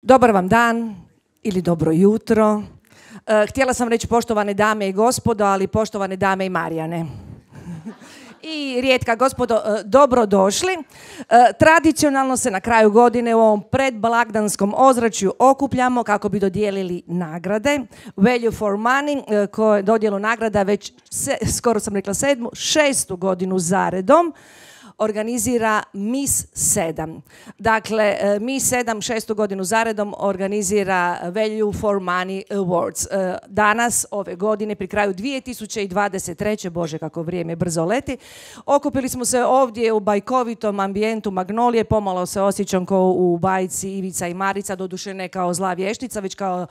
Dobar vam dan ili dobro jutro. Htjela sam reći poštovane dame i gospodo, ali poštovane dame i Marijane. I rijetka gospodo, dobrodošli. Tradicionalno se na kraju godine u ovom predblagdanskom ozračju okupljamo kako bi dodijelili nagrade. Value for Money, koje dodjelu nagrada već, skoro sam rekla šestu godinu zaredom, organizira MIS 7. Dakle, MIS 7 šestu godinu zaredom organizira Value for Money Awards. Danas, ove godine, pri kraju 2023. Bože, kako vrijeme brzo leti, okupili smo se ovdje u bajkovitom ambijentu Magnolije. Pomalo se osjećam kao u bajci Ivica i Marica, doduše ne kao zla vještica, već kao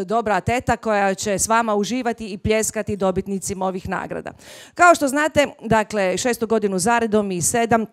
dobra teta koja će s vama uživati i pljeskati dobitnicima ovih nagrada. Kao što znate, dakle, šestu godinu zaredom MIS 7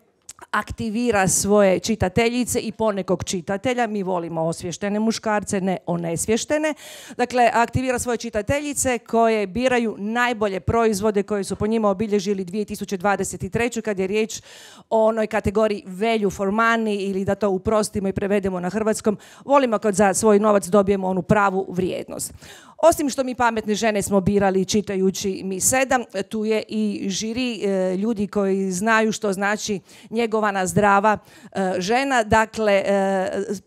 aktivira svoje čitateljice i ponekog čitatelja. Mi volimo osvještene muškarce, ne onesvještene. Dakle, aktivira svoje čitateljice koje biraju najbolje proizvode koje su po njima obilježili 2023. kad je riječ o onoj kategoriji Value for Money, ili da to uprostimo i prevedemo na hrvatskom, volimo kad za svoj novac dobijemo onu pravu vrijednost. Osim što mi pametne žene smo birali čitajući MIS 7, tu je i žiri, ljudi koji znaju što znači njegovana zdrava žena, dakle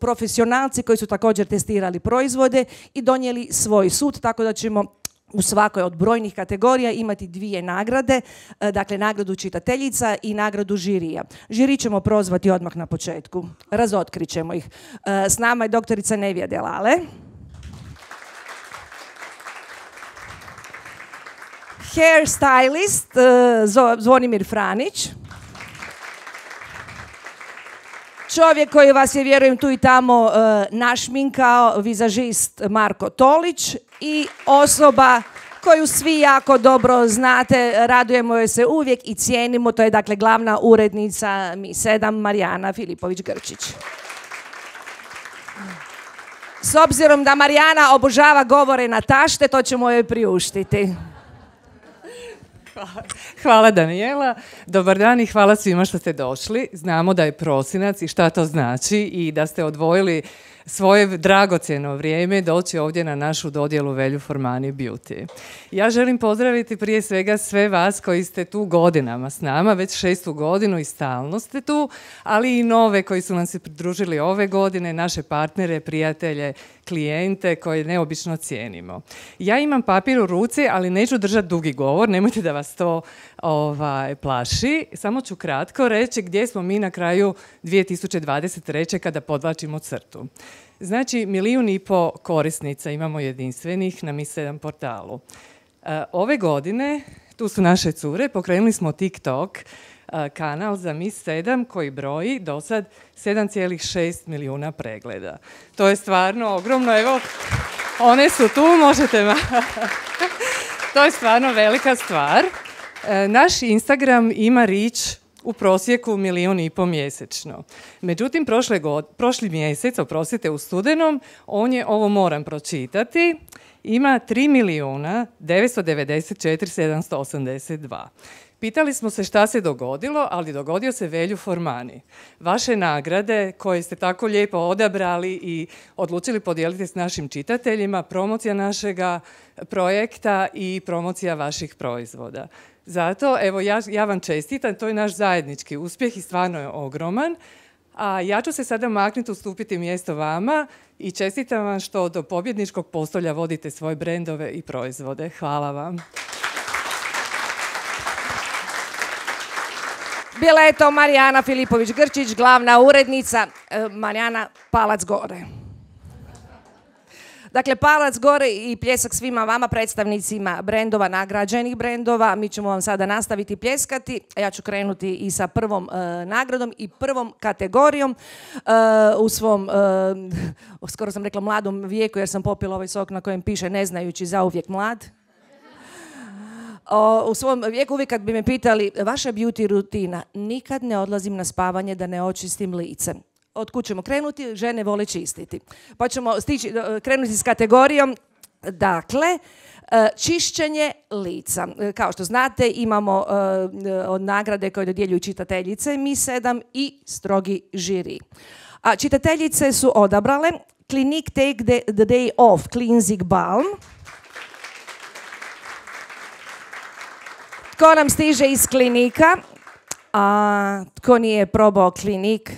profesionalci koji su također testirali proizvode i donijeli svoj sud, tako da ćemo u svakoj od brojnih kategorija imati dvije nagrade, dakle nagradu čitateljica i nagradu žirija. Žiri ćemo prozvati odmah na početku, razotkrit ćemo ih. S nama je doktorica Nevija Delale. Hair stylist Zvonimir Franić. Čovjek koji vas je, vjerujem, tu i tamo našminkao, vizažist Marko Tolić, i osoba koju svi jako dobro znate, radujemo joj se uvijek i cijenimo, to je dakle glavna urednica MIS 7 Marijana Filipović-Grčić. S obzirom da Marijana obožava govore na tašte, to ćemo joj priuštiti. Hvala Danijela, dobar dan i hvala svima što ste došli. Znamo da je prosinac i šta to znači i da ste odvojili svoje dragocjeno vrijeme doći ovdje na našu dodjelu Value for Money Beauty. Ja želim pozdraviti prije svega sve vas koji ste tu godinama s nama, već šestu godinu i stalno ste tu, ali i nove koji su nam se pridružili ove godine, naše partnere, prijatelje, klijente koje neobično cijenimo. Ja imam papir u ruci, ali neću držati dugi govor, nemojte da vas to plaši. Samo ću kratko reći gdje smo mi na kraju 2023. kada podvlačimo crtu. Znači, 1,5 milijun korisnica imamo jedinstvenih na MIS 7 portalu. Ove godine, tu su naše cure, pokrenuli smo TikTok kanal za MIS 7 koji broji do sad 7,6 milijuna pregleda. To je stvarno ogromno, evo, one su tu, možete to je stvarno velika stvar. Naš Instagram ima reach u prosjeku 1,5 milijuna mjesečno. Međutim, prošli mjesec, oprostite, u studenom, on je, ovo moram pročitati, ima 3.994.782. Pitali smo se šta se dogodilo, ali dogodio se Value for Money. Vaše nagrade koje ste tako lijepo odabrali i odlučili podijeliti s našim čitateljima, promocija našega projekta i promocija vaših proizvoda. Zato, evo, ja vam čestitam, to je naš zajednički uspjeh i stvarno je ogroman. A ja ću se sada maknuti, ustupiti mjesto vama i čestitam vam što do pobjedničkog postolja vodite svoje brendove i proizvode. Hvala vam. Bila je to Marijana Filipović-Grčić, glavna urednica. Marijana, palac gore. Dakle, palac gore i pljesak svima vama, predstavnicima brendova, nagrađenih brendova. Mi ćemo vam sada nastaviti pljeskati. Ja ću krenuti i sa prvom nagradom i prvom kategorijom. U svom, skoro sam rekla mladom vijeku, jer sam popila ovaj sok na kojem piše ne znajući zauvijek mlad. U svom vijeku uvijek kad bi me pitali vaša beauty rutina, nikad ne odlazim na spavanje da ne očistim lice. Od kud ćemo krenuti? Žene vole čistiti. Pa ćemo krenuti s kategorijom, dakle, čišćenje lica. Kao što znate, imamo nagrade koje dodjeljuju čitateljice MIS 7 i strogi žiri. A čitateljice su odabrale Clinique Take the Day Off Cleansing Balm. Tko nam stiže iz Klinika? A tko nije probao Klinik,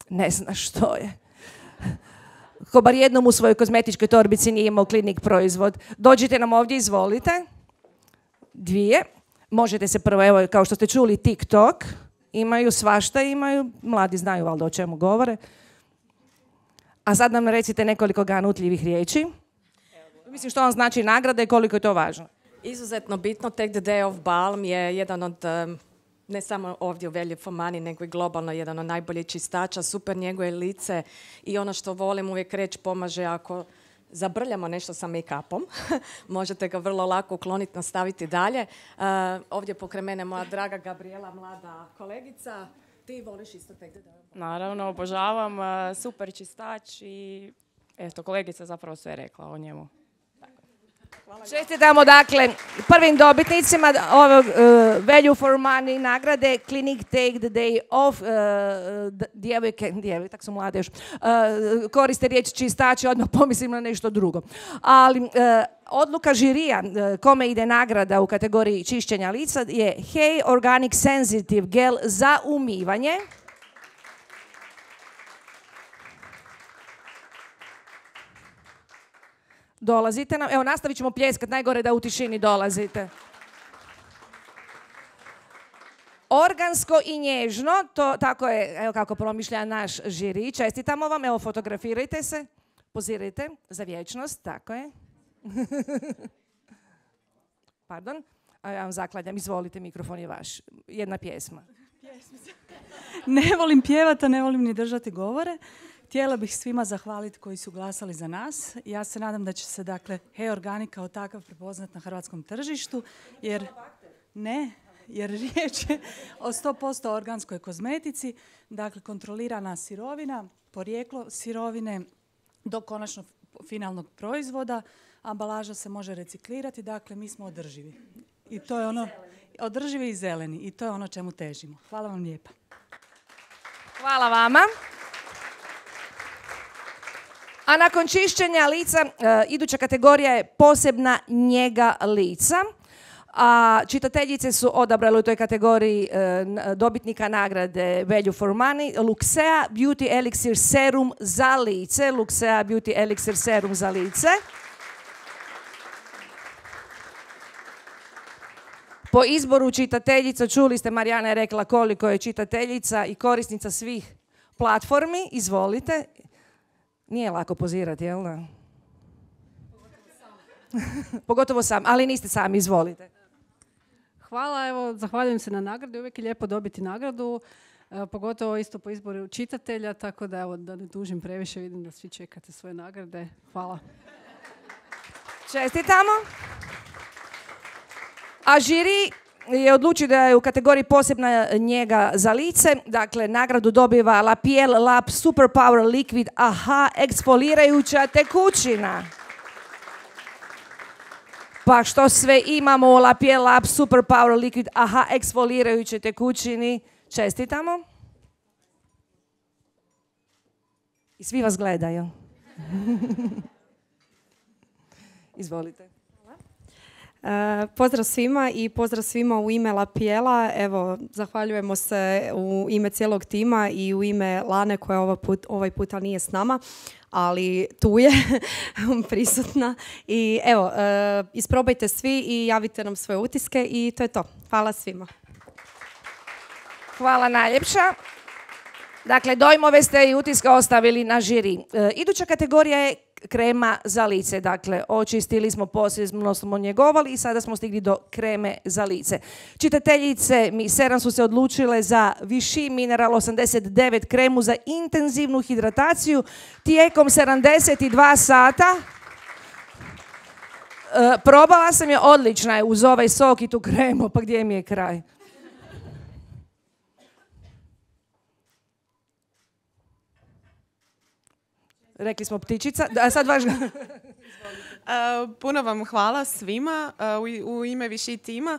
ne zna što je. Ko bar jednom u svojoj kozmetičkoj torbici nije imao Klinik proizvod. Dođite nam ovdje, izvolite. 2. Možete se prvo, evo, kao što ste čuli, TikTok. Imaju svašta, imaju. Mladi znaju valjda o čemu govore. A sad nam recite nekoliko ganutljivih riječi. Mislim što vam znači nagrada i koliko je to važno. Izuzetno bitno, Take the Day Off Balm je jedan od, ne samo ovdje u Value for Money, nego i globalno jedan od najboljih čistača, super njeguje lice i ono što volim uvijek reći, pomaže ako zabrljamo nešto sa make-upom. Možete ga vrlo lako ukloniti, nastaviti dalje. Ovdje pokraj mene moja draga Gabriela, mlada kolegica. Ti voliš isto Take the Day Off Balm? Naravno, obožavam, super čistač i eto, kolegica zapravo sve rekla o njemu. Čestitamo dakle prvim dobitnicima ovog Value for Money nagrade Clinique Take the Day Off. Djevojke, tak su mlade još, koriste riječ čistači, odmah pomislim na nešto drugo. Ali odluka žirija kome ide nagrada u kategoriji čišćenja lica je Hey Organic Sensitive Gel za umivanje. Dolazite nam. Evo, nastavit ćemo pljeskat. Najgore da u tišini dolazite. Organsko i nježno, to tako je, evo kako promišlja naš žiri. Čestitamo vam, evo fotografirajte se, pozirajte za vječnost, tako je. Pardon, a ja vam zaklanjam, izvolite, mikrofon je vaš. Jedna pjesma. Ne volim pjevati, a ne volim ni držati govore. Htjela bih svima zahvaliti koji su glasali za nas. Ja se nadam da će se, dakle, Hey Organic kao takav prepoznat na hrvatskom tržištu, jer riječ je o 100% organskoj kozmetici, dakle, kontrolirana sirovina, porijeklo sirovine do konačnog finalnog proizvoda, ambalaža se može reciklirati, dakle, mi smo održivi. I to je ono, održivi i zeleni, i to je ono čemu težimo. Hvala vam lijepa. Hvala vama. A nakon čišćenja lica, iduća kategorija je posebna njega lica. A čitateljice su odabrale u toj kategoriji dobitnika nagrade Value for Money Luxea Beauty Elixir Serum za lice. Luxea Beauty Elixir Serum za lice. Po izboru čitateljica, čuli ste, Marijana je rekla koliko je čitateljica i korisnica svih platformi. Izvolite. Nije lako pozirati, jel da? Pogotovo sam, ali niste sami, izvolite. Hvala, evo, zahvaljujem se na nagradi. Uvijek je lijepo dobiti nagradu, pogotovo isto po izboru čitatelja, tako da, evo, da ne dužim previše, vidim da svi čekate svoje nagrade. Hvala. Čestitamo. A žiri je odlučio da je u kategoriji posebna njega za lice. Dakle, nagradu dobiva La Piel Lab Super Power Liquid AHA eksfolirajuća tekućina. Pa što sve imamo u La Piel Lab Super Power Liquid AHA eksfolirajuće tekućini? Čestitamo. I svi vas gledaju. Izvolite. Pozdrav svima i pozdrav svima u ime La Piela. Evo, zahvaljujemo se u ime cijelog tima i u ime Lane koja ovaj puta nije s nama, ali tu je prisutna. I evo, isprobajte svi i javite nam svoje utiske i to je to. Hvala svima. Hvala najljepša. Dakle, dojmove ste i utiske ostavili na žiri. Iduća kategorija je krema za lice. Dakle, očistili smo, posebno smo njegovali i sada smo stigli do kreme za lice. Čitateljice mi 7 su se odlučile za Vichy Mineral 89 kremu za intenzivnu hidrataciju tijekom 72 sata. Probala sam je, odlična je uz ovaj sok i tu kremu, pa gdje mi je kraj? Rekli smo ptičica. A sad važno. Puno vam hvala svima. U ime Vichy tima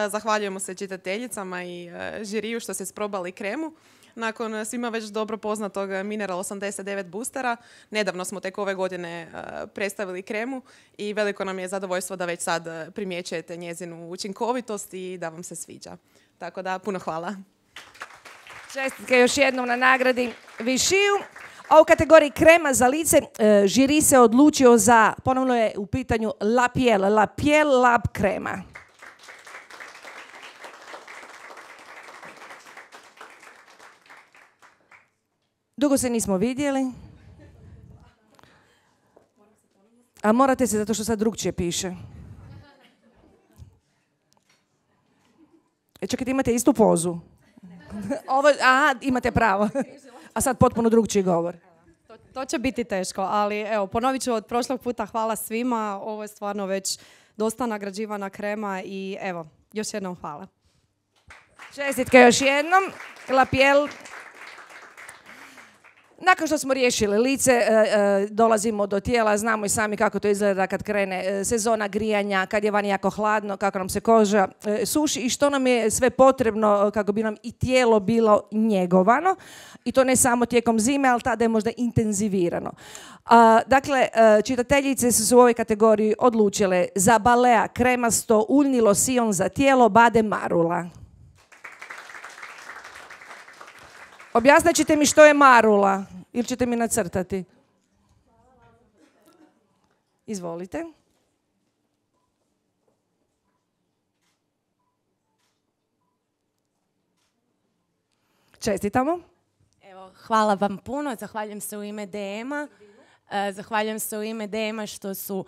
zahvaljujemo se čitateljicama i žiriju što ste sprobali kremu. nakon svima već dobro poznatog Mineral 89 boostera. Nedavno smo tek ove godine predstavili kremu i veliko nam je zadovoljstvo da već sad primjećujete njezinu učinkovitost i da vam se sviđa. Tako da, puno hvala. Čestitke još jednom na nagradi Višiju. A u kategoriji krema za lice žiri se odlučio za, ponovno je u pitanju La Piel Lab krema. Dugo se nismo vidjeli. A morate se, zato što sad drugčije piše. Čekajte, imate istu pozu. Aha, imate pravo. A sad potpuno drugčiji govor. To će biti teško, ali evo, ponovit ću od prošlog puta, hvala svima. Ovo je stvarno već dosta nagrađivana krema i evo, još jednom hvala. Čestitke još jednom. La Piel. Nakon što smo riješili lice, dolazimo do tijela, znamo i sami kako to izgleda kad krene sezona grijanja, kad je vani jako hladno, kako nam se koža suši i što nam je sve potrebno kako bi nam i tijelo bilo njegovano. I to ne samo tijekom zime, ali tada je možda intenzivirano. Dakle, čitateljice su se u ovoj kategoriji odlučile za Balea kremasto uljni losion za tijelo Bade Marula. Objasnit ćete mi što je marula ili ćete mi nacrtati? Izvolite. Čestitamo. Evo, hvala vam puno, zahvaljujem se u ime DM-a. Zahvaljujem se u ime DM-a što su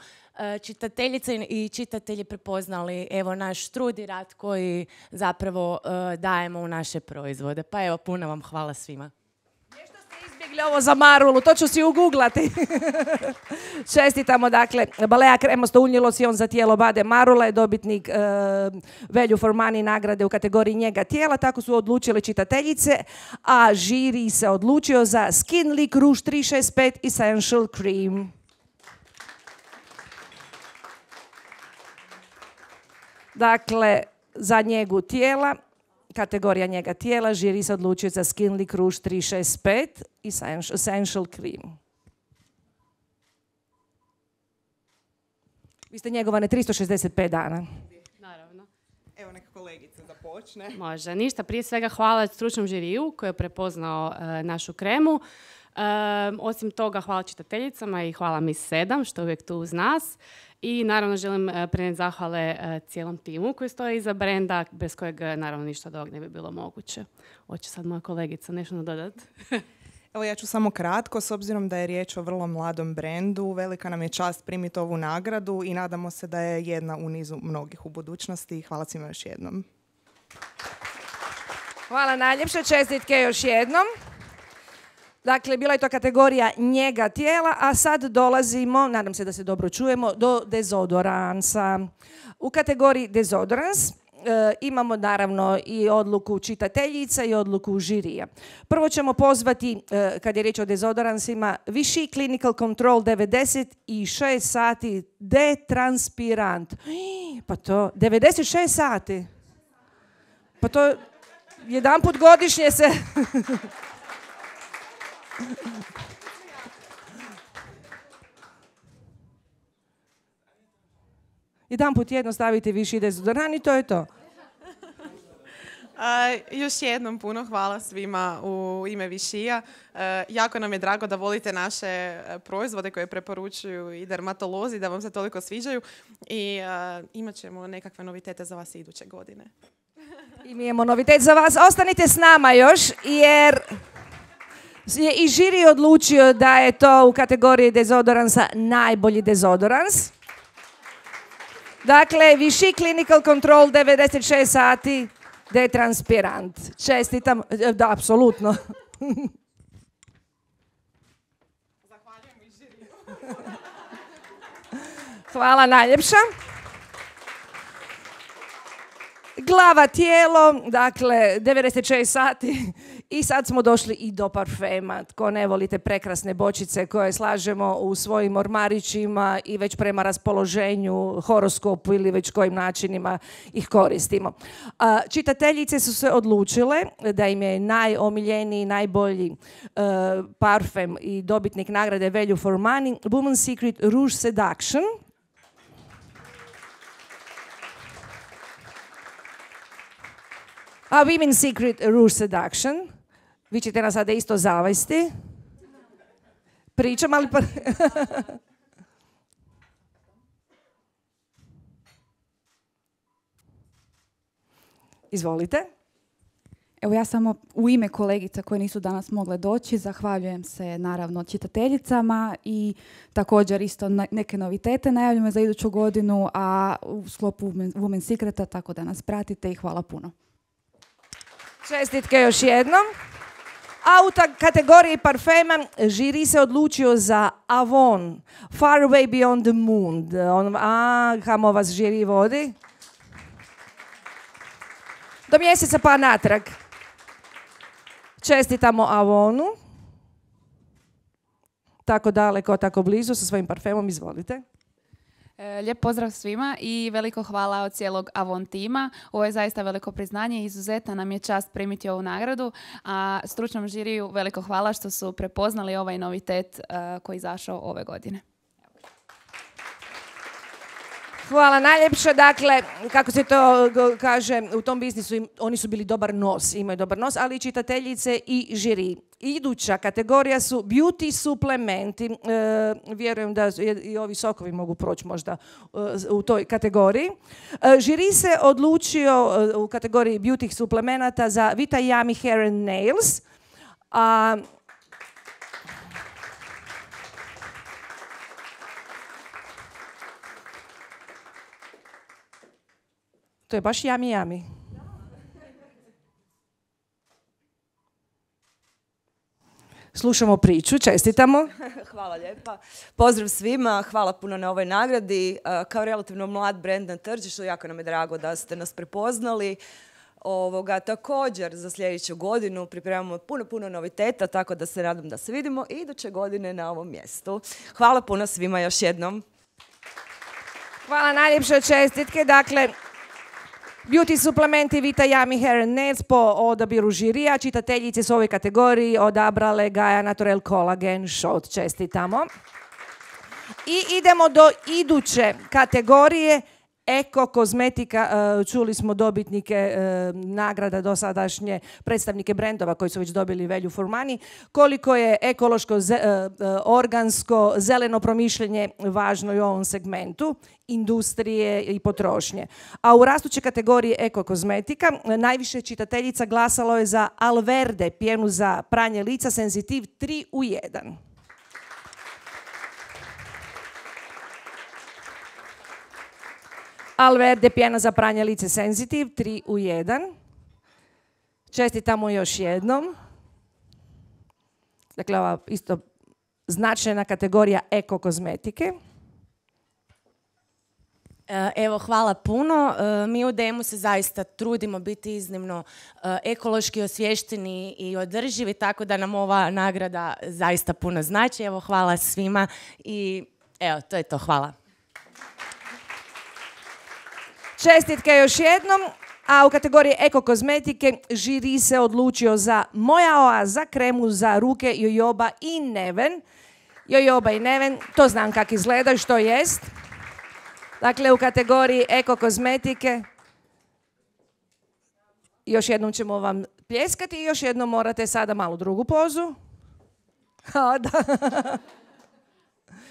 čitateljice i čitatelji prepoznali evo naš trud i rad koji zapravo dajemo u naše proizvode. Pa evo, puno vam hvala svima. Nešto ste izbjegli ovo za marulu, to ću si uguglati. Čestitamo, dakle, Balea kremosto uljni losion za tijelo Bade Marula je dobitnik Value for Money nagrade u kategoriji njega tijela, tako su odlučile čitateljice, a žiri se odlučio za Skin Leak Rouge 365 Essential Cream. Dakle, za njegu tijela, kategorija njega tijela, žiri se odlučio za Skin Leak Rouge 365 Essential Cream. Vi ste njegovane 365 dana. Naravno. Evo, neka kolegica započne. Može. Ništa, prije svega hvala stručnom žiriju koji je prepoznao našu kremu. Osim toga, hvala čitateljicama i hvala Miss 7 što je uvijek tu uz nas. I naravno želim prenijeti zahvale cijelom timu koji stoji iza brenda, bez kojeg naravno ništa od ovog ne bi bilo moguće. Hoće sad moja kolegica nešto nadodati? Evo, ja ću samo kratko, s obzirom da je riječ o vrlo mladom brendu, velika nam je čast primiti ovu nagradu i nadamo se da je jedna u nizu mnogih u budućnosti. Hvala svima još jednom. Hvala najljepše, čestitke još jednom. Dakle, bila je to kategorija njega tijela, a sad dolazimo, nadam se da se dobro čujemo, do dezodoransa. U kategoriji dezodorans imamo naravno i odluku čitateljica i odluku žirija. Prvo ćemo pozvati, kad je riječ o dezodoransima, Vichy Clinical Control 96 sati detranspirant. Pa to, 96 sati. Pa to jedanput godišnje se... Jedanput jedno stavite Vichy dezodorans i to je to. Još jednom puno hvala svima u ime Vichyja. Jako nam je drago da volite naše proizvode koje preporučuju i dermatolozi, da vam se toliko sviđaju i imat ćemo nekakve novitete za vas iduće godine. I mi imamo novitet za vas. Ostanite s nama još jer je i žiri odlučio da je to u kategoriji dezodoransa najbolji dezodorans. Dakle, Vichy Clinical Control 96 sati detranspirant. Čestitam, da, apsolutno. Zahvaljujem i žiriju. Hvala najljepša. Glava, tijelo, dakle 96 sati i sad smo došli i do parfema. Tko ne volite prekrasne bočice koje slažemo u svojim ormarićima i već prema raspoloženju, horoskopu ili već kojim načinima ih koristimo. Čitateljice su se odlučile da im je najomiljeniji, najbolji parfem i dobitnik nagrade Value for Money Woman's Secret Rouge Seduction. A Women's Secret Rouge Seduction. Vi ćete nas sada isto zavesti. Pričam, ali... Izvolite. Evo ja samo u ime kolegica koje nisu danas mogle doći zahvaljujem se naravno čitateljicama i također isto neke novitete najavljujemo za iduću godinu, a u sklopu Women's Secreta, tako da nas pratite i hvala puno. Čestitke još jednom. A u kategoriji parfema žiri se odlučio za Avon, Far Away Beyond the Moon. Kamo vas žiri vodi? Do mjeseca pa natrag. Čestitamo Avonu. Tako daleko, tako blizu sa svojim parfemom, izvolite. Lijep pozdrav svima i veliko hvala od cijelog Avon tima. Ovo je zaista veliko priznanje i izuzetna nam je čast primiti ovu nagradu, a stručnom žiriju veliko hvala što su prepoznali ovaj novitet koji je izašao ove godine. Hvala najljepše. Dakle, kako se to kaže, u tom biznisu oni su bili dobar nos, imaju dobar nos, ali i čitateljice i žiri. Iduća kategorija su beauty suplementi. Vjerujem da i ovi sokovi mogu proći možda u toj kategoriji. Žiri se odlučio u kategoriji beauty suplemenata za Vita Yami Hair and Nails. To je baš Yami. Slušamo priču, čestitamo. Hvala lijepa. Pozdrav svima, hvala puno na ovoj nagradi. Kao relativno mlad brand na tržištu, jako nam je drago da ste nas prepoznali. Također za sljedeću godinu pripremamo puno noviteta, tako da se nadam da se vidimo i iduće godine na ovom mjestu. Hvala puno svima još jednom. Hvala najljepše, čestitke. Dakle, beauty suplementi Vita Yami Hair and Nails po odabiru žirija. Čitateljice su u ovoj kategoriji odabrale Gaia Naturel Collagen Shot. Čestitamo. I idemo do iduće kategorije Eko kozmetika. Čuli smo dobitnike nagrada dosadašnje, predstavnike brendova koji su već dobili Value for Money. Koliko je ekološko, organsko, zeleno promišljanje važno i u ovom segmentu industrije i potrošnje. A u rastuće kategoriji eko kozmetika najviše čitateljica glasalo je za Alverde, pjenu za pranje lica Sensitive 3 u 1. Alverde, pjena za pranje lice Sensitive 3 u 1. Čestitamo još jednom. Dakle, ova isto značajna kategorija eko kozmetike. Evo, hvala puno. Mi u DM-u se zaista trudimo biti iznimno ekološki osviješteni i održivi, tako da nam ova nagrada zaista puno znači. Evo, hvala svima i evo, to je to. Hvala. Čestitke još jednom. A u kategoriji eko kozmetike žiri se odlučio za Moja oaza, kremu za ruke Jojoba i Neven. Jojoba i Neven, to znam kako izgleda, što jest. Dakle, u kategoriji eko kozmetike još jednom ćemo vam pljeskati i još jednom morate sada malo drugu pozu.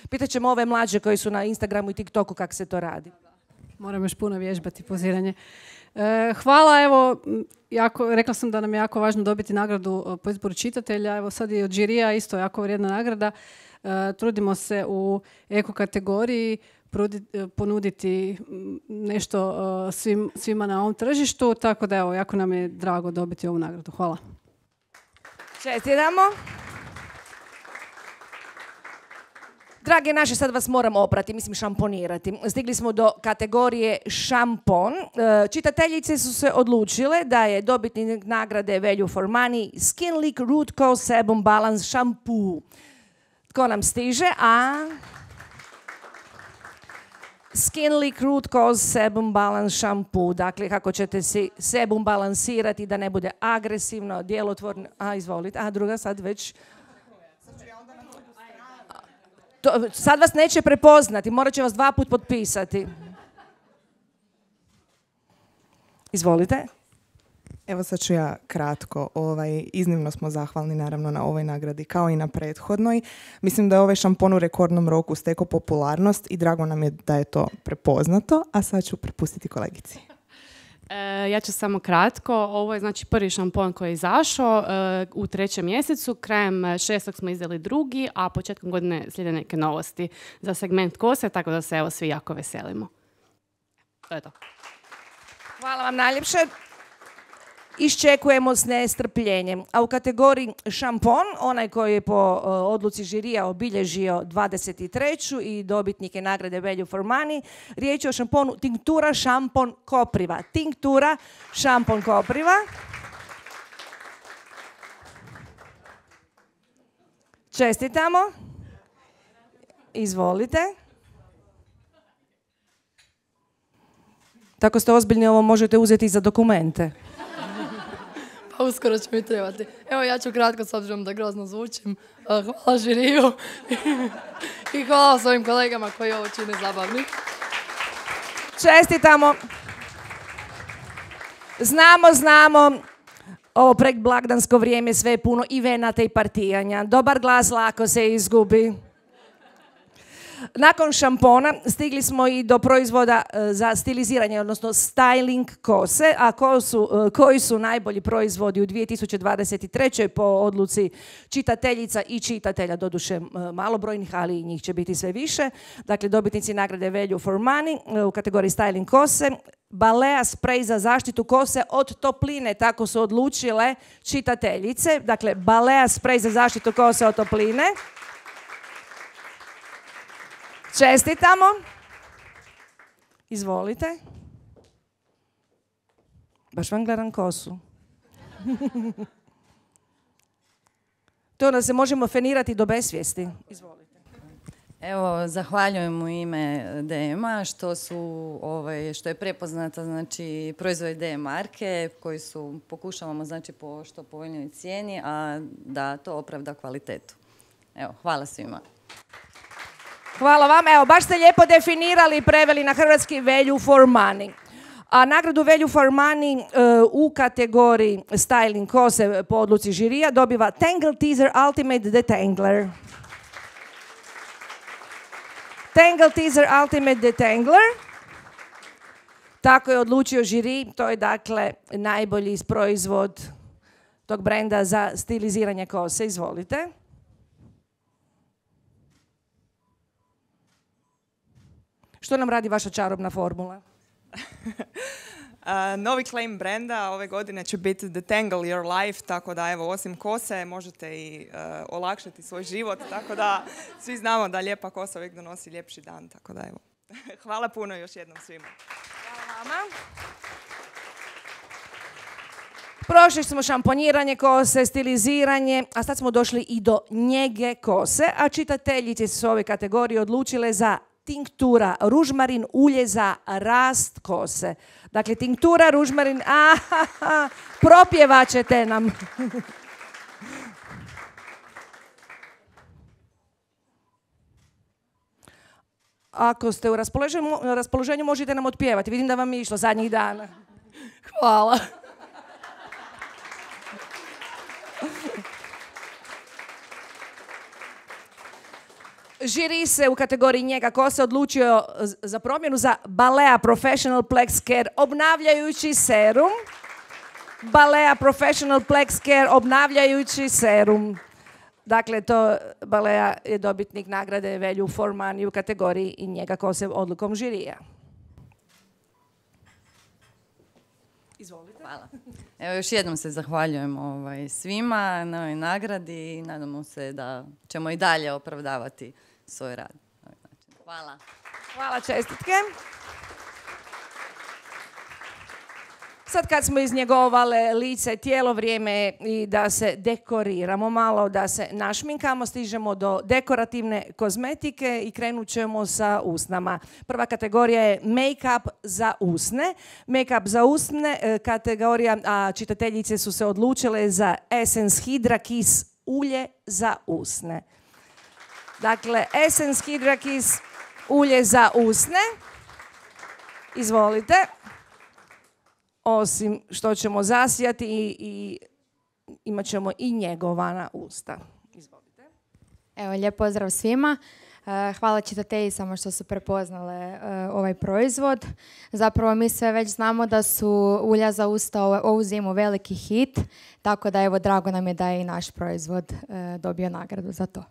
Pitat ćemo ove mlađe koji su na Instagramu i TikToku kako se to radi. Moram još puno vježbati poziranje. Hvala, evo, rekla sam da nam je jako važno dobiti nagradu po izboru čitatelja. Evo sad je od žirija isto jako vrijedna nagrada. Trudimo se u eko kategoriji ponuditi nešto svima na ovom tržištu, tako da evo, jako nam je drago dobiti ovu nagradu. Hvala. Čestitamo. Drage naše, sad vas moram oprati, mislim šamponirati. Stigli smo do kategorije šampon. Čitateljice su se odlučile da je dobitnik nagrade Value for Money Skin Leak Root Cause Sebum Balance Shampoo. Tko nam stiže? Skin Leak Root Cause Sebum Balance Shampoo. Dakle, kako ćete si sebum balansirati da ne bude agresivno, djelotvorno. Izvolite. Druga sad već... sad vas neće prepoznati, morat će vas 2 puta potpisati. Izvolite. Evo sad ću ja kratko. Iznimno smo zahvalni naravno na ovoj nagradi kao i na prethodnoj. Mislim da je ovaj šampon u rekordnom roku stekao popularnost i drago nam je da je to prepoznato, a sad ću prepustiti kolegici. Ja ću samo kratko. Ovo je znači prvi šampon koji je izašao u 3. mjesecu. Krajem 6. smo izdali drugi, a početkom godine slijede neke novosti za segment kose, tako da se evo svi jako veselimo. To je to. Hvala vam najljepše. Iščekujemo s nestrpljenjem. A u kategoriji šampon, onaj koji je po odluci žirija obilježio 23. i dobitnike nagrade Value for Money, riječ je o šamponu Tinktura šampon kopriva. Tinktura šampon kopriva. Čestitamo. Izvolite. Tako ste ozbiljni, ovo možete uzeti za dokumente. Pa uskoro će mi trebati. Evo ja ću kratko, s obzirom da grozno zvučim. Hvala žiriju i hvala svojim kolegama koji ovo čine zabavni. Čestitamo. Znamo. Ovo predblagdansko vrijeme sve je puno i venata i partijanja. Dobar glas lako se izgubi. Nakon šampona stigli smo i do proizvoda za stiliziranje, odnosno styling kose, a koji su najbolji proizvodi u 2023. po odluci čitateljica i čitatelja, doduše malobrojnih, ali i njih će biti sve više. Dakle, dobitnici nagrade Value for Money u kategoriji styling kose, Balea sprej za zaštitu kose od topline, tako su odlučile čitateljice. Dakle, Balea sprej za zaštitu kose od topline. Čestitamo. Izvolite. Baš vam gledam kosu. To onda se možemo fenirati do besvijesti. Izvolite. Evo, zahvaljujem u ime DM-a što je prepoznata znači, proizvod DM marke koji pokušavamo znači, po što povoljnoj cijeni, a da to opravda kvalitetu. Evo, hvala svima. Hvala vam. Evo, baš ste lijepo definirali i preveli na hrvatski Value for Money. A nagradu Value for Money u kategoriji styling kose po odluci žirija dobiva Tangle Teezer Ultimate Detangler. Tangle Teezer Ultimate Detangler. Tako je odlučio žiri. To je dakle najbolji proizvod tog brenda za stiliziranje kose. Izvolite. Što nam radi vaša čarobna formula? Novi claim brenda ove godine će biti Detangle Your Life, tako da evo, osim kose možete i olakšati svoj život, tako da svi znamo da lijepa kosa uvijek donosi ljepši dan, tako da evo. Hvala puno još jednom svima. Hvala vama. Prošli smo šamponiranje kose, stiliziranje, a sad smo došli i do njege kose, a čitateljice su ove kategorije odlučile za tinktura ružmarin ulje za rast kose. Dakle, tinktura ružmarin, propjevat ćete nam. Ako ste u raspoloženju možete nam otpjevati. Vidim da vam je išlo zadnjih dana. Hvala. Žiri se u kategoriji njega kose odlučio za promjenu za Balea Professional Plex Care obnavljajući serum. Balea Professional Plex Care obnavljajući serum. Dakle, to Balea je dobitnik nagrade Value for Money u kategoriji i njega kose odlukom žirija. Izvolite. Hvala. Evo, još jednom se zahvaljujem svima na ovoj nagradi i nadamo se da ćemo i dalje opravdavati svoj rad. Hvala. Hvala, čestitke. Sad kad smo iznjegovale lice, tijelo, vrijeme je i da se dekoriramo malo, da se našminkamo, stižemo do dekorativne kozmetike i krenut ćemo sa usnama. Prva kategorija je make-up za usne. Make-up za usne kategorija, a čitateljice su se odlučile za Essence Hydra Kiss ulje za usne. Dakle, Essence Hydra Kiss ulje za usne. Izvolite. Osim što ćemo zasijati i imat ćemo i njegovana usta. Izvolite. Evo, lijep pozdrav svima. Hvala čitateljicama što su prepoznale ovaj proizvod. Zapravo mi sve već znamo da su ulja za usta ovu zimu veliki hit, tako da evo drago nam je da je i naš proizvod dobio nagradu za to.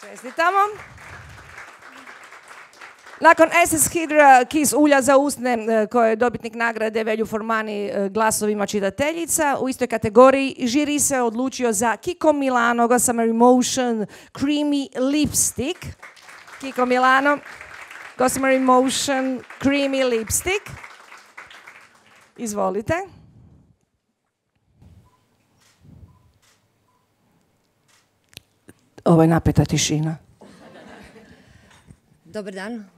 Čestitamo. Nakon Essence Hydra Kiss ulja za usne koje je dobitnik nagrade Velju Formani glasovima čitateljica, u istoj kategoriji žiri se odlučio za Kiko Milano Gossamer Emotion Creamy Lipstick. Kiko Milano Gossamer Emotion Creamy Lipstick. Izvolite. Ovo je napeta tišina. Dobar dan.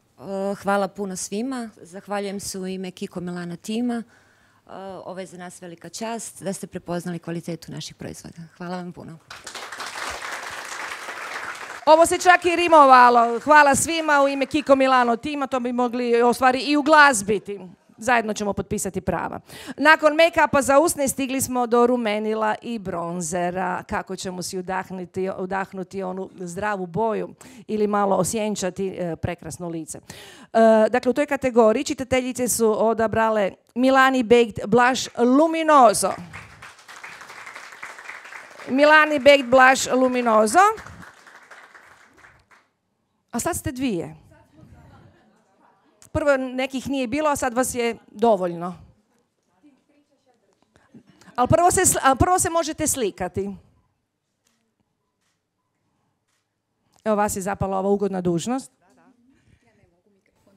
Hvala puno svima. Zahvaljujem se u ime Kiko Milano tima. Ovo je za nas velika čast da ste prepoznali kvalitetu naših proizvoda. Hvala vam puno. Ovo se čak i rimovalo. Hvala svima u ime Kiko Milano tima. To bi mogli ostvari i uglazbiti. Zajedno ćemo potpisati prava. Nakon make-upa za usne stigli smo do rumenila i bronzera. Kako ćemo si udahnuti onu zdravu boju ili malo osjenčati prekrasno lice. Dakle, u toj kategoriji čitateljice su odabrale Milani Baked Blush Luminoso. Milani Baked Blush Luminoso. A sad ste dvije. Prvo nekih nije bilo, a sad vas je dovoljno. Ali prvo se možete slikati. Evo vas je zapala ova ugodna dužnost.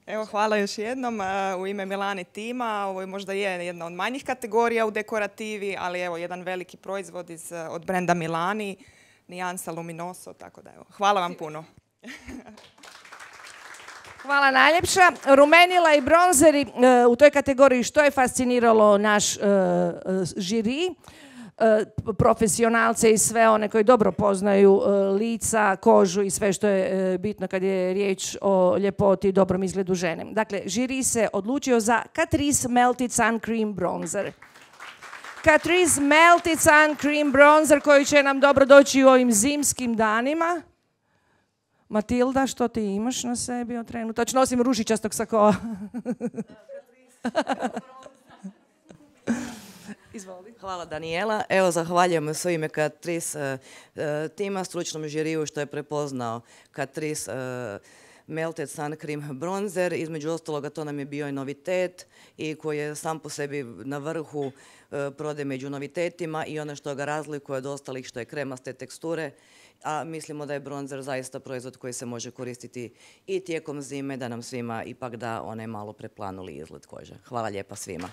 Evo, hvala još jednom u ime Milani tima. Ovo je možda jedna od manjih kategorija u dekorativi, ali evo jedan veliki proizvod od brenda Milani, nijansa Luminoso, tako da evo. Hvala vam puno. Hvala najljepša. Rumenila i bronzeri u toj kategoriji što je fasciniralo naš žiri, profesionalce i sve one koji dobro poznaju lica, kožu i sve što je bitno kad je riječ o ljepoti i dobrom izgledu žene. Dakle, žiri se odlučio za Catrice Melted Sun Cream Bronzer. Catrice Melted Sun Cream Bronzer koji će nam dobro doći u ovim zimskim danima. Matilda, što ti imaš na sebi trenutačno? Osim ružičastog sakoa. Izvoli. Hvala Danijela. Evo, zahvaljujem se u ime Catrice tima, stručnom žiriju što je prepoznao Catrice Melted Sun Cream Bronzer. Između ostaloga to nam je bio i novitet i koji je sam po sebi na vrhu prodaje među novitetima i ono što ga razlikuje od ostalih što je kremaste teksture. A mislimo da je bronzer zaista proizvod koji se može koristiti i tijekom zime da nam svima ipak da onaj malo preplanuli izgled kože. Hvala lijepa svima.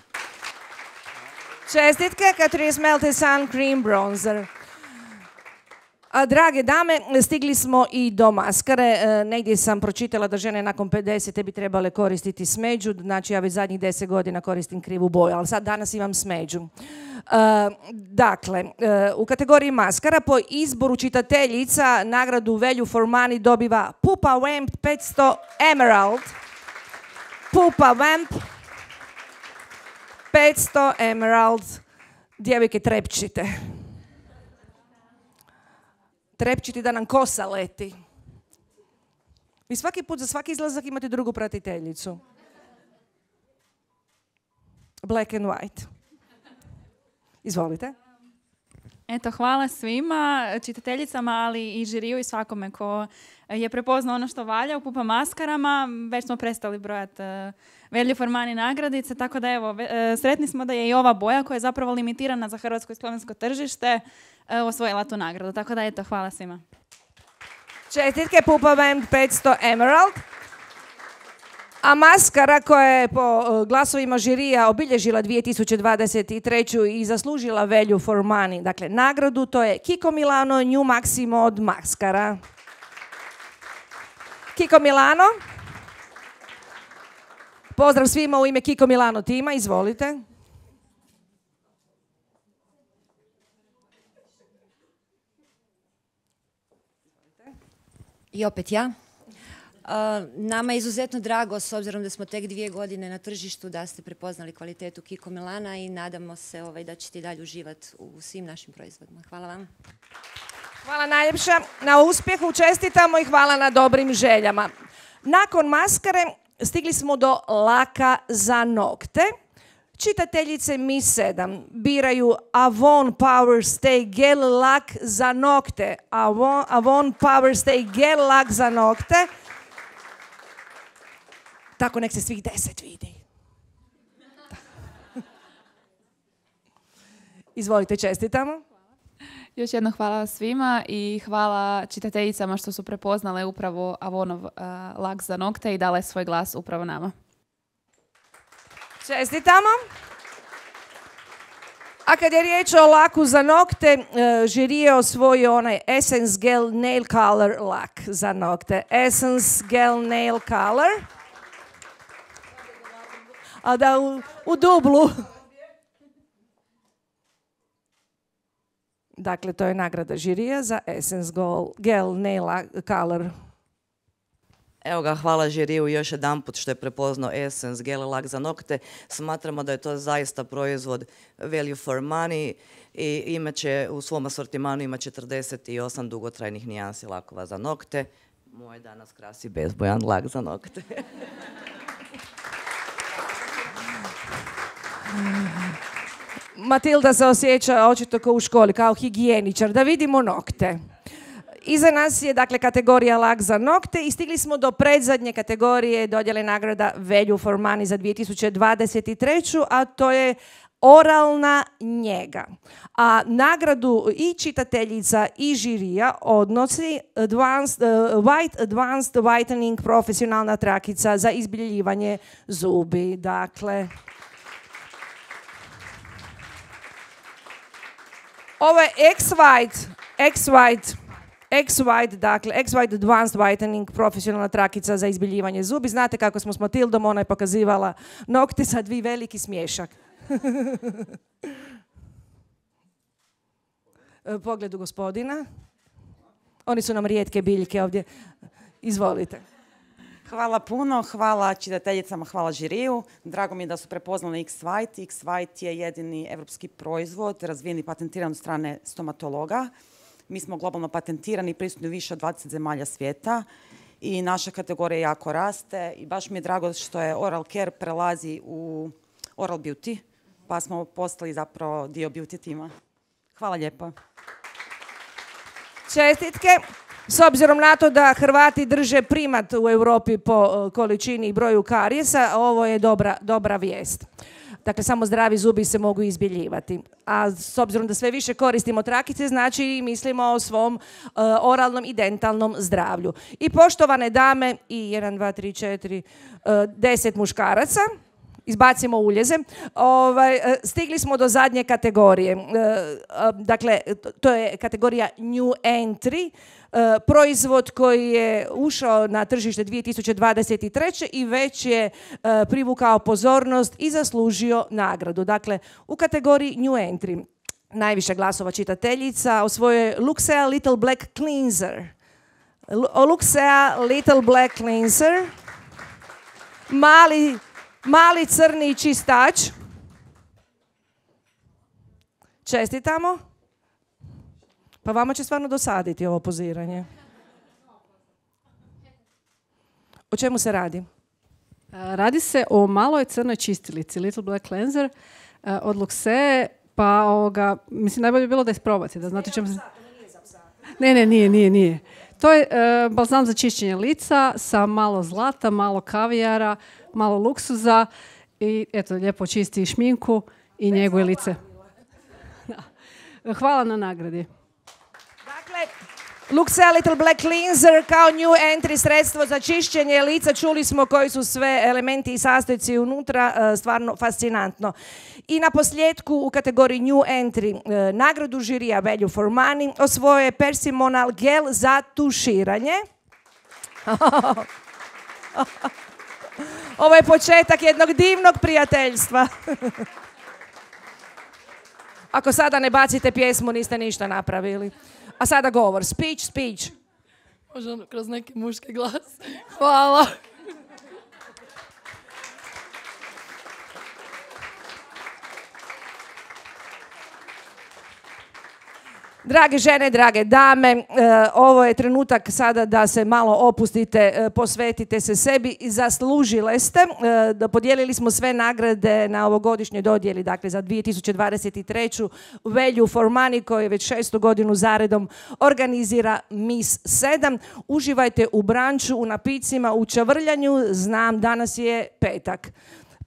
Čestitke, Catrice Melted Sun Cream Bronzer. Drage dame, stigli smo i do maskare. Negdje sam pročitala da žene nakon 50 bi trebale koristiti smeđu. Znači, ja već zadnjih 10 godina koristim krivu boju, ali sad danas imam smeđu. Dakle, u kategoriji maskara po izboru čitateljica nagradu Velju Formani dobiva Pupa Vamp 500 Emerald. Pupa Vamp 500 Emerald. Djevojke, trepčite. Trepčiti da nam kosa leti. Vi svaki put za svaki izlazak imate drugu pratiteljicu. Black and white. Izvolite. Eto, hvala svima, čitateljicama, ali i žiriju i svakome ko je prepoznao ono što valja u Pupa maskarama. Već smo prestali brojati Velju Formani nagradice, tako da evo, sretni smo da je i ova boja koja je zapravo limitirana za hrvatsko i slovensko tržište osvojila tu nagradu. Tako da eto, hvala svima. Čestitke, Pupa Vamp 500 Emerald. A maskara koja je po glasovima žirija obilježila 2023. i zaslužila Value for Money, dakle nagradu, to je Kiko Milano New Maximo od maskara. Kiko Milano. Pozdrav svima u ime Kiko Milano tima, izvolite. I opet ja. Nama je izuzetno drago, s obzirom da smo tek 2 godine na tržištu, da ste prepoznali kvalitetu Kiko Milana i nadamo se da ćete i dalje uživati u svim našim proizvodima. Hvala vam. Hvala najljepša na uspjehu, čestitamo i hvala na dobrim željama. Nakon maskare stigli smo do laka za nokte. Čitateljice Mi 7 biraju Avon Power Stay Gel lak za nokte. Avon Power Stay Gel lak za nokte. Tako nek se svih 10 vidi. Izvolite, čestitamo. Još jedno hvala svima i hvala čitateljicama što su prepoznale upravo Avonov lak za nokte i dale svoj glas upravo nama. Čestitamo. A kad je riječ o laku za nokte, žiri je osvojio onaj Essence Gel Nail Color lak za nokte. Essence Gel Nail Color. A da u dublu. Dakle, to je nagrada žirija za Essence Gel Nail Color. Evo ga, hvala žiriju još jedanput što je prepoznao Essence Gel lak za nokte. Smatramo da je to zaista proizvod value for money i imaće u svom asortimanu ima 48 dugotrajnih nijansi lakova za nokte. Moj danas krasi bezbojan lak za nokte. Matilda se osjeća očito kao u školi, kao higijeničar. Da vidimo nokte. Iza nas je dakle kategorija lak za nokte i stigli smo do predzadnje kategorije dodjele nagrada Value for Money za 2023. A to je oralna njega. A nagradu i čitateljica i žirija odnosi White Advanced Whitening profesionalna trakica za izbjeljivanje zubi. Dakle, ovo je X-White, dakle, X-White Advanced Whitening, profesionalna trakica za izbjeljivanje zubi. Znate kako smo s Matildom, ona je pokazivala nokte, sad vi veliki smiješak. Pogledu gospodina. Oni su nam rijetke biljke ovdje. Izvolite. Hvala puno, hvala čitateljicama, hvala žiriju. Drago mi je da su prepoznali X-White. X-White je jedini evropski proizvod, razvijen i patentiran od strane stomatologa. Mi smo globalno patentirani i prisutni u više od 20 zemalja svijeta i naša kategorija jako raste i baš mi je drago što je oral care prelazi u oral beauty, pa smo postali zapravo dio beauty tima. Hvala lijepo. Čestitke. S obzirom na to da Hrvati drže primat u Europi po količini i broju karijesa, ovo je dobra vijest. Dakle, samo zdravi zubi se mogu izbjeljivati. A s obzirom da sve više koristimo trakice, znači mislimo o svom oralnom i dentalnom zdravlju. I poštovane dame, i 1, 2, 3, 4, 10 muškaraca, izbacimo uljeze, stigli smo do zadnje kategorije. Dakle, to je kategorija New Entry, proizvod koji je ušao na tržište 2023. i već je privukao pozornost i zaslužio nagradu. Dakle, u kategoriji New Entry najviše glasova čitateljica osvojuje Luxea Little Black Cleanser. Luxea Little Black Cleanser. Mali crni čistač. Čestitamo. Pa vama će stvarno dosaditi ovo poziranje. O čemu se radi? Radi se o maloj crnoj čistilici, Little Black Cleanser od Luxe, pa mislim najbolje bi bilo da isprobate, da znate čemu se... Ne, nije. To je balzam za čišćenje lica sa malo zlata, malo kavijara, malo luksuza i eto, lijepo čisti šminku i njeguje lice. Hvala na nagradi. Dakle, Luxea Little Black Cleanser kao new entry sredstvo za čišćenje lica. Čuli smo koji su sve elementi i sastojci unutra, stvarno fascinantno. I na posljedku u kategoriji new entry nagradu žirija Value for Money osvojio je Persimonal gel za tuširanje. Ovo je početak jednog divnog prijateljstva. Ako sada ne bacite pjesmu, niste ništa napravili. A sada govor. Speech. Možda kroz neki muški glas. Hvala. Drage žene, drage dame, ovo je trenutak sada da se malo opustite, posvetite se sebi i zaslužile ste. Podijelili smo sve nagrade na ovogodišnjoj dodjeli, dakle za 2023. Value for Money koji već 6. godinu zaredom organizira Miss 7. Uživajte u branču, u napicima, u čavrljanju. Znam, danas je petak.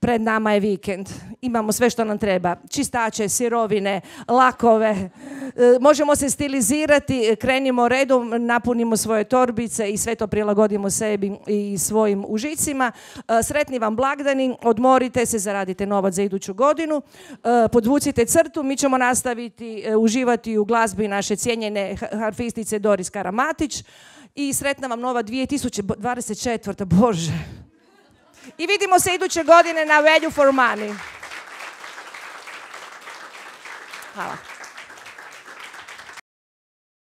Pred nama je vikend. Imamo sve što nam treba. Čistače, sirovine, lakove. Možemo se stilizirati, krenimo redom, napunimo svoje torbice i sve to prilagodimo sebi i svojim užicima. Sretni vam blagdani, odmorite se, zaradite novac za iduću godinu. Podvucite crtu, mi ćemo nastaviti uživati u glazbi naše cijenjene harfistice Doris Karamatić. I sretna vam nova 2024. Bože. I vidimo se iduće godine na Value for Money. Hvala.